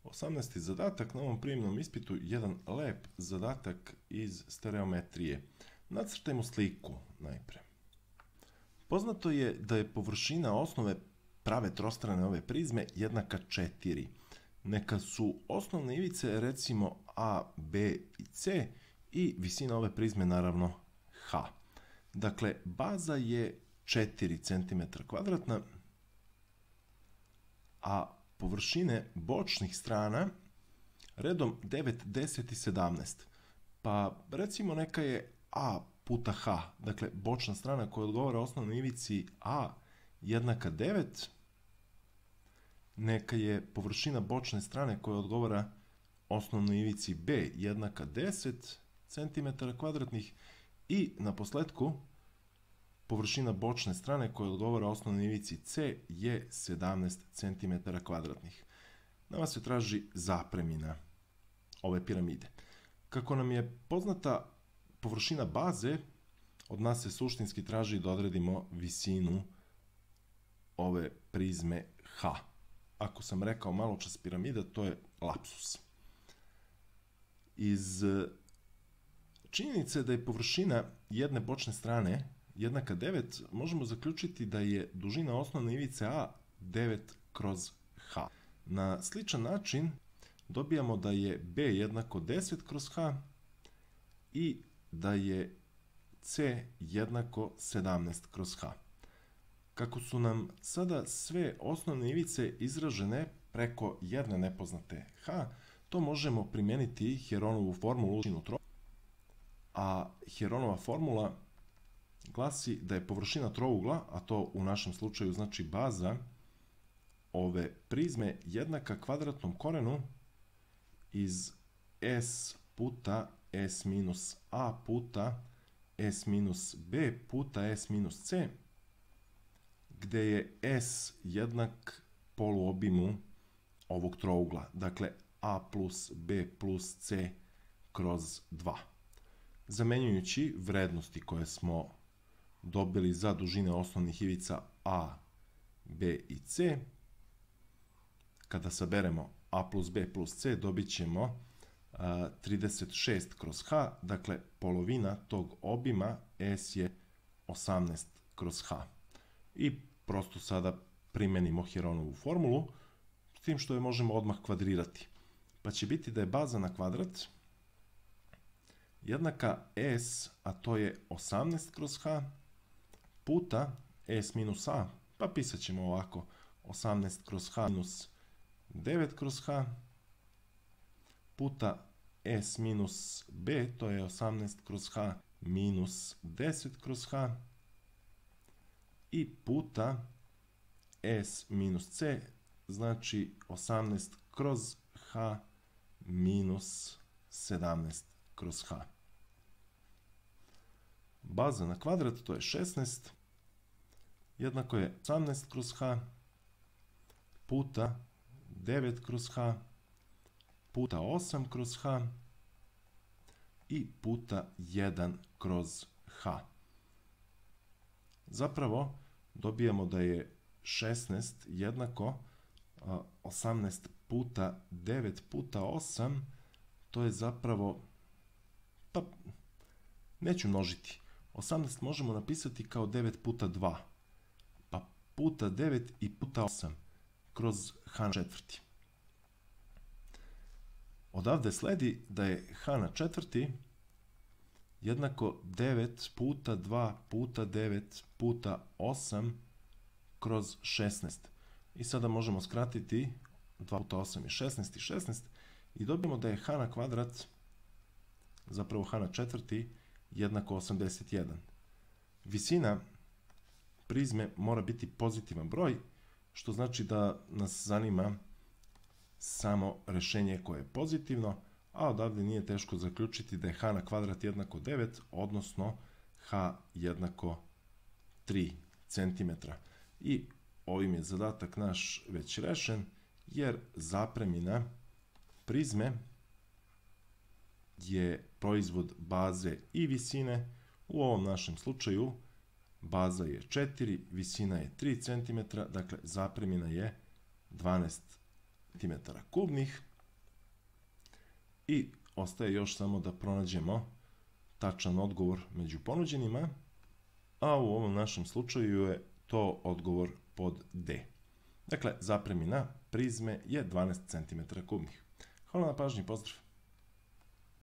18. zadatak na ovom prijemnom ispitu, jedan lep zadatak iz stereometrije. Nacrtajmo sliku najpre. Poznato je da je površina osnove prave trostrane ove prizme jednaka 4. Neka su osnovne ivice recimo A, B i C i visina ove prizme naravno H. Dakle, baza je 4 cm2, a površine bočnih strana redom 9, 10 i 17. Pa recimo neka je A puta H, dakle bočna strana koja odgovara osnovnoj ivici A jednaka 9, neka je površina bočne strane koja odgovara osnovnoj ivici B jednaka 10 cm2 i na posledku površina bočne strane koja odgovara osnovnoj ivici C je 17 cm2. Nama se traži zapremina ove piramide. Kako nam je poznata površina baze, od nas se suštinski traži da odredimo visinu ove prizme H. Ako sam rekao malo čas piramida, to je lapsus. Iz činjenice da je površina jedne bočne strane jednaka 9, možemo zaključiti da je dužina osnovne ivice A 9 kroz H. Na sličan način dobijamo da je B jednako 10 kroz H i da je C jednako 17 kroz H. Kako su nam sada sve osnovne ivice izražene preko jedne nepoznate H, to možemo primijeniti Heronovu formulu, a Heronova formula glasi da je površina trougla, a to u našem slučaju znači baza ove prizme, jednaka kvadratnom korenu iz S puta S minus A puta S minus B puta S minus C, gde je S jednak poluobimu ovog trougla, dakle A plus B plus C kroz 2. Zamenjujući vrednosti koje smo dobili za dužine osnovnih ivica A, B i C, kada saberemo A plus B plus C, dobit ćemo 36 kroz H, dakle polovina tog obima S je 18 kroz H. I prosto sada primenimo Heronovu formulu, s tim što je možemo odmah kvadrirati. Pa će biti da je baza na kvadrat jednaka S, a to je 18 kroz H, puta S minus A, pa pisat ćemo ovako 18 kroz H minus 9 kroz H, puta S minus B, to je 18 kroz H minus 10 kroz H, i puta S minus C, znači 18 kroz H minus 17 kroz H. Baza na kvadrat, to je 16, jednako je 18 kroz H puta 9 kroz H puta 8 kroz H i puta 1 kroz H. Zapravo dobijamo da je 16 jednako 18 puta 9 puta 8, to je zapravo, pa neću množiti, 18 možemo napisati kao 9 puta 2, pa puta 9 i puta 8 kroz H na četvrti. Odavde sledi da je H na četvrti jednako 9 puta 2 puta 9 puta 8 kroz 16. I sada možemo skratiti 2 puta 8 je 16 i 16 i dobijemo da je H na kvadrat, zapravo H na četvrti, jednako 81. Visina prizme mora biti pozitivan broj, što znači da nas zanima samo rešenje koje je pozitivno, a odavde nije teško zaključiti da je H na kvadrat jednako 9, odnosno H jednako 3 cm. I ovim je zadatak naš već rešen, jer zapremina prizme je proizvod baze i visine. U ovom našem slučaju baza je 4, visina je 3 cm, dakle zapremina je 12 cm kubnih. I ostaje još samo da pronađemo tačan odgovor među ponuđenima, a u ovom našem slučaju je to odgovor pod D. Dakle, zapremina prizme je 12 cm kubnih. Hvala na pažnji, pozdrav!